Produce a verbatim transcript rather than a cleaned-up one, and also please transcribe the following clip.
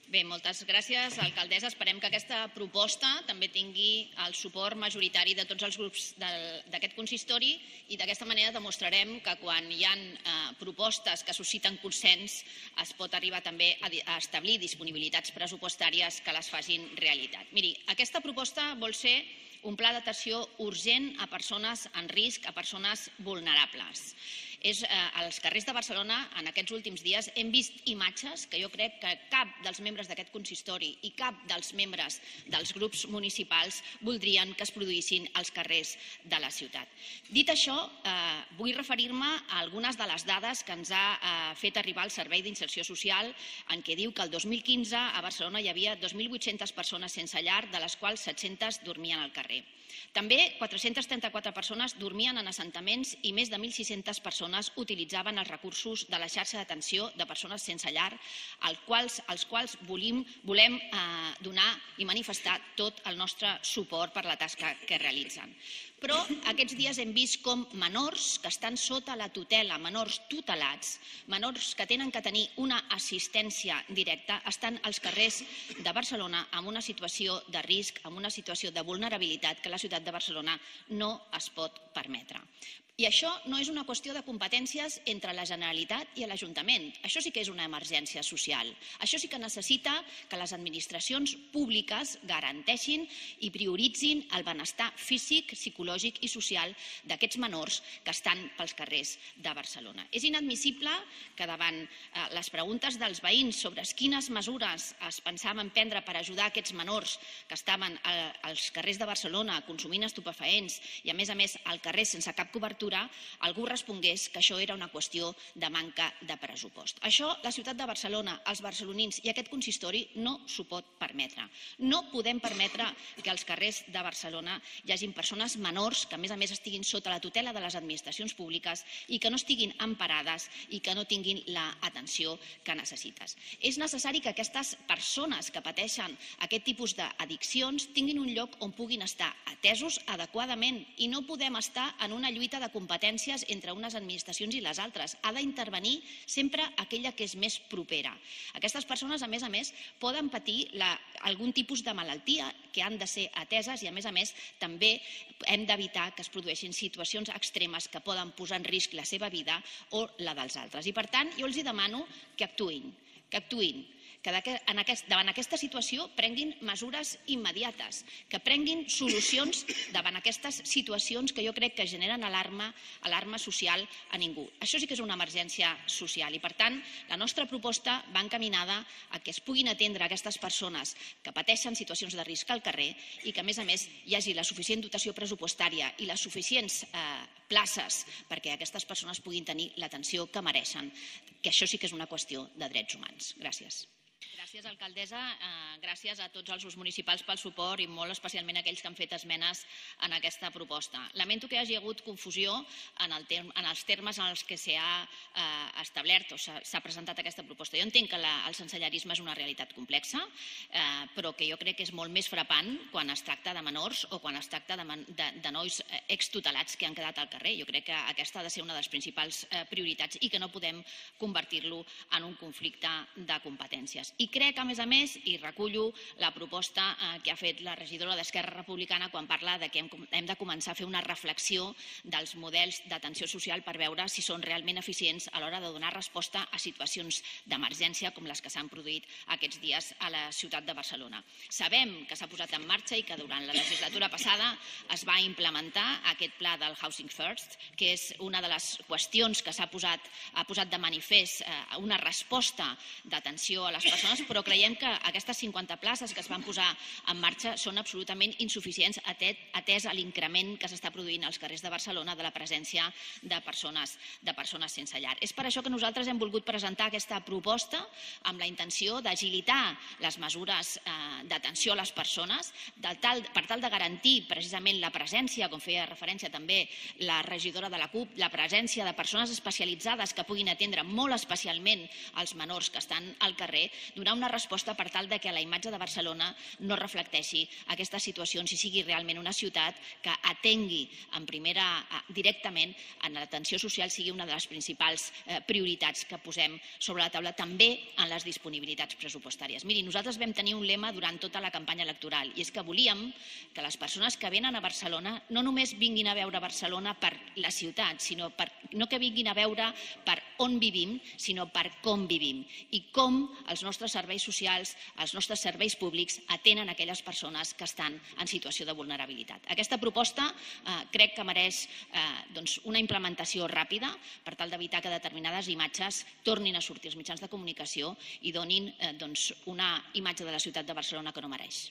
Bé, moltes gràcies, alcaldessa. Esperem que aquesta proposta també tingui el suport majoritari de tots els grups d'aquest consistori i d'aquesta manera demostrarem que quan hi ha propostes que susciten consens es pot arribar també a establir disponibilitats pressupostàries que les facin realitat. Miri, aquesta proposta vol ser un pla d'atenció urgent a persones en risc, a persones vulnerables. Als carrers de Barcelona, en aquests últims dies, hem vist imatges que jo crec que cap dels membres d'aquest consistori i cap dels membres dels grups municipals voldrien que es produïssin als carrers de la ciutat. Dit això, vull referir-me a algunes de les dades que ens ha fet arribar el Servei d'Inserció Social, en què diu que el dos mil quinze a Barcelona hi havia dos mil vuit-centes persones sense llar, de les quals set-centes dormien al carrer. També quatre-centes trenta-quatre persones dormien en assentaments i més de mil sis-centes persones utilitzaven els recursos de la xarxa d'atenció de persones sense llar, als quals volem donar i manifestar tot el nostre suport per la tasca que realitzen. Però aquests dies hem vist com menors que estan sota la tutela, menors tutelats, menors que tenen que tenir una assistència directa, estan als carrers de Barcelona amb una situació de risc, amb una situació de vulnerabilitat que la ciutat de Barcelona no es pot permetre. I això no és una qüestió de competències entre la Generalitat i l'Ajuntament. Això sí que és una emergència social. Això sí que necessita que les administracions públiques garanteixin i prioritzin el benestar físic, psicològic i social d'aquests menors que estan pels carrers de Barcelona. És inadmissible que davant les preguntes dels veïns sobre quines mesures es pensaven prendre per ajudar aquests menors que estaven als carrers de Barcelona consumint estupefaents i, a més a més, al carrer sense cap cobertura, algú respongués que això era una qüestió de manca de pressupost. Això la ciutat de Barcelona, els barcelonins i aquest consistori no s'ho pot permetre. No podem permetre que als carrers de Barcelona hi hagin persones menors que a més a més estiguin sota la tutela de les administracions públiques i que no estiguin emparades i que no tinguin l'atenció que necessites. És necessari que aquestes persones que pateixen aquest tipus d'addiccions tinguin un lloc on puguin estar atesos adequadament i no podem estar en una lluita de competències entre unes administracions i les altres. Ha d'intervenir sempre aquella que és més propera. Aquestes persones, a més a més, poden patir algun tipus de malaltia que han de ser ateses i, a més a més, també hem d'evitar que es produeixin situacions extremes que poden posar en risc la seva vida o la dels altres. I, per tant, jo els demano que actuïn, que actuïn. que davant aquesta situació prenguin mesures immediates, que prenguin solucions davant aquestes situacions que jo crec que generen alarma social a ningú. Això sí que és una emergència social i, per tant, la nostra proposta va encaminada a que es puguin atendre aquestes persones que pateixen situacions de risc al carrer i que, a més a més, hi hagi la suficient dotació pressupostària i les suficients places perquè aquestes persones puguin tenir l'atenció que mereixen, que això sí que és una qüestió de drets humans. Gràcies. Gràcies, alcaldessa. Gràcies a tots els grups municipals pel suport i molt especialment a aquells que han fet esmenes en aquesta proposta. Lamento que hi hagi hagut confusió en els termes en els que s'ha establert o s'ha presentat aquesta proposta. Jo entenc que el sensellarisme és una realitat complexa, però que jo crec que és molt més frapant quan es tracta de menors o quan es tracta de nois extutelats que han quedat al carrer. Jo crec que aquesta ha de ser una de les principals prioritats i que no podem convertir-lo en un conflicte de competències. I crec, a més a més, i recullo la proposta que ha fet la regidora d'Esquerra Republicana quan parla que hem de començar a fer una reflexió dels models d'atenció social per veure si són realment eficients a l'hora de donar resposta a situacions d'emergència com les que s'han produït aquests dies a la ciutat de Barcelona. Sabem que s'ha posat en marxa i que durant la legislatura passada es va implementar aquest pla del Housing First, que és una de les qüestions que s'ha posat de manifest, una resposta d'atenció a les persones, però creiem que aquestes cinquanta places que es van posar en marxa són absolutament insuficients atès a l'increment que s'està produint als carrers de Barcelona de la presència de persones sense llar. És per això que nosaltres hem volgut presentar aquesta proposta amb la intenció d'agilitar les mesures d'atenció a les persones per tal de garantir precisament la presència, com feia referència també la regidora de la CUP, la presència de persones especialitzades que puguin atendre molt especialment els menors que estan al carrer, donar una resposta per tal de que la imatge de Barcelona no reflecteixi aquestes situacions i sigui realment una ciutat que atengui en primera, directament en l'atenció social, sigui una de les principals prioritats que posem sobre la taula també en les disponibilitats pressupostàries. Miri, nosaltres vam tenir un lema durant tota la campanya electoral i és que volíem que les persones que venen a Barcelona no només vinguin a veure Barcelona per la ciutat, sinó per, no que vinguin a veure per on vivim, sinó per com vivim i com els nostres serveis socials, els nostres serveis públics atenen aquelles persones que estan en situació de vulnerabilitat. Aquesta proposta eh, crec que mereix eh, doncs una implementació ràpida per tal d'evitar que determinades imatges tornin a sortir als mitjans de comunicació i donin eh, doncs una imatge de la ciutat de Barcelona que no mereix.